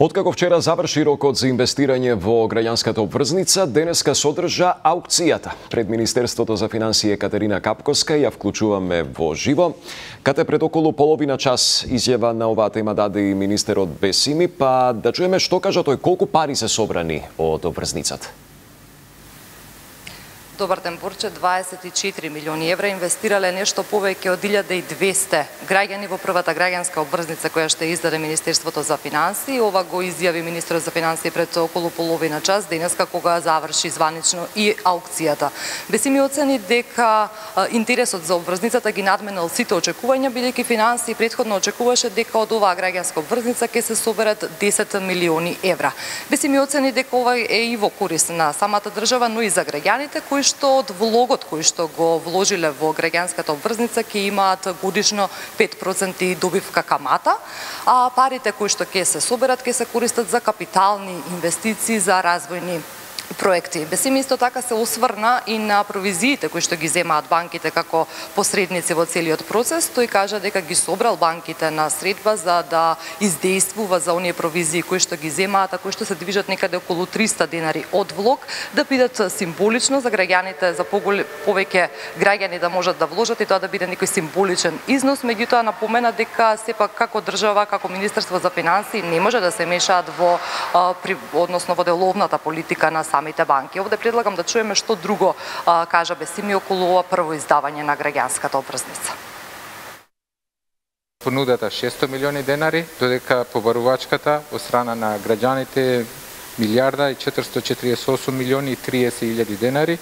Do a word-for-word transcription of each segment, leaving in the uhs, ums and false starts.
Откако вчера заврши рокот за инвестирање во граѓанската обврзница, денеска содржа аукцијата. Пред Министерството за финансии Екатерина Капковска ја вклучуваме во живо. Кате пред околу половина час изјава на оваа тема даде и министерот Бесими, па да чуеме што кажа тој, колку пари се собрани од обврзницата. Добар ден, Борче. дваесет и четири милиони евра инвестирале нешто повеќе од илјада и двесте граѓани во првата граѓанска обврзница која ще издаде Министерството за финансии. Ова го изјави министерот за финансии пред околу половина час, денеска кога заврши званично и аукцијата. Бесими оцени дека интересот за обврзницата ги надменал сите очекувања, бидејќи финансии претходно очекуваше дека од оваа граѓанска обврзница ќе се соберат десет милиони евра. Бесими оцени дека ова е и во корист на самата држава, но и за граѓаните кои што од влогот кој што го вложиле во граѓанската обврзница ќе имаат годишно пет проценти добивка камата, а парите кои што ќе се соберат ќе се користат за капитални инвестиции, за развојни проекти. Бесими исто така се осврна и на провизиите кои што ги земаат банките како посредници во целиот процес. Тој кажа дека ги собрал банките на средба за да издействува за оние провизии кои што ги земаат, а кои што се движат некаде околу триста денари од влог, да бидат символично за граѓаните, за повеќе граѓани да можат да вложат и тоа да биде некој символичен износ. Меѓутоа напомена дека сепак како држава, како Министерство за финансии не може да се мешаат во при, односно во деловната политика на самите банки. Овде предлагам да чуеме што друго а, кажа Бесими околу ова прво издавање на граѓанската обврзница. Понудата шесто милиони денари, додека побарувачката од страна на граѓаните милијарда и четиристо четиридесет и осум милиони и триесет илјади денари,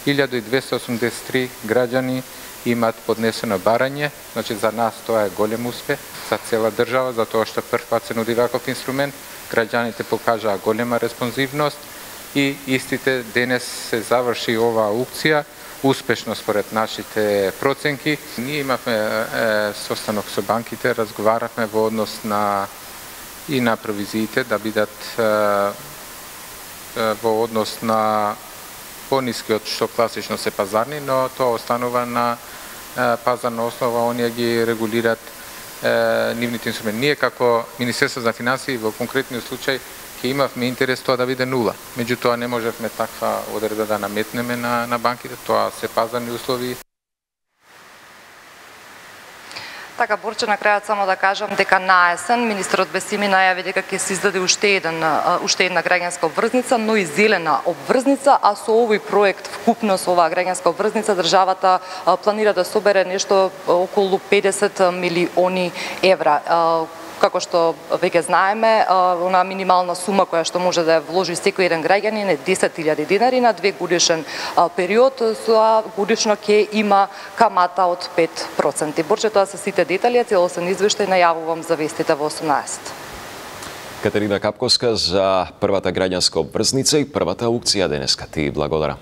илјада и двесте осумдесет и три граѓани имаат поднесено барање, значи за нас тоа е голем успех, за цела држава, за тоа што прв пат се нуди ваков инструмент, граѓаните покажаа голема респонзивност и истите денес се заврши оваа аукција, успешно според нашите проценки. Ние имавме е, состанок со банките, разговаравме во однос на и на провизиите да бидат е, е, во однос на пониски од што класично се пазарни, но тоа останува на е, пазарна основа, оние ги регулират е, нивните инструменти. Ние како Министерство за финансии во конкретниот случај ќе имавме интерес тоа да биде нула. Меѓутоа не можевме таква одредба да наметнеме на, на банките, тоа се пазарни услови. Така, Борче, на крајот само да кажам дека на есен министерот Бесими најави дека ќе се издаде уште еден уште една граѓанска обврзница, но и зелена обврзница, а со овој проект вкупно со оваа граѓанска обврзница државата планира да собере нешто околу педесет милиони евра. Како што веќе знаеме, она минимална сума која што може да ја вложи секој еден граѓанин е десет илјади динари на две годишен период, со годишно ќе има камата од пет проценти. Борче, тоа се сите детали, целосен извештај најавувам за вестите во осумнаесет. Катерина Капковска за првата граѓанска обврзница и првата аукција денеска. Ти благодарам.